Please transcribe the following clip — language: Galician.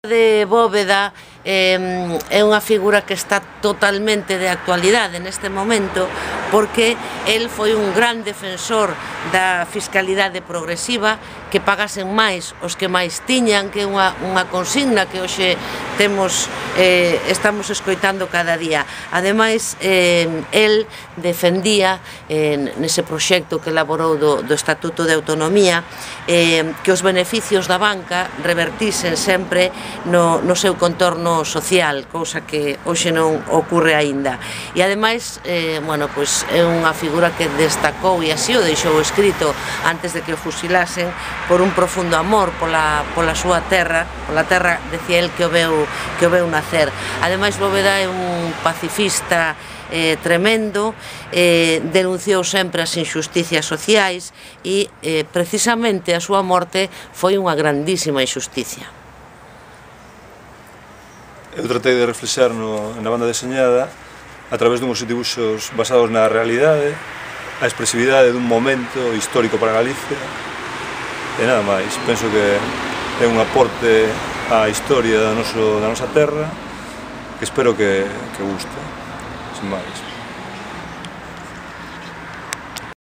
De Bóveda é unha figura que está totalmente de actualidade neste momento porque el foi un gran defensor da fiscalidade progresiva, que pagasen máis os que máis tiñan, que é unha consigna que hoxe estamos escoitando cada día. Ademais, el defendía nese proxecto que elaborou do Estatuto de Autonomía que os beneficios da banca revertisen sempre no seu contorno social, cousa que hoxe non ocorre aínda. E ademais, é unha figura que destacou, e así o deixou escrito antes de que o fusilasen, por un profundo amor pola súa terra, pola terra, decía el, que o veu nacer. Ademais, Bóveda é un pacifista tremendo, denunciou sempre as injusticias sociais e precisamente a súa morte foi unha grandísima injusticia. Eu tratei de reflexar na banda deseñada a través dunhos dibuxos basados na realidade, a expresividade dun momento histórico para Galicia e nada máis. Penso que é un aporte á historia da nosa terra que espero que guste, sin máis.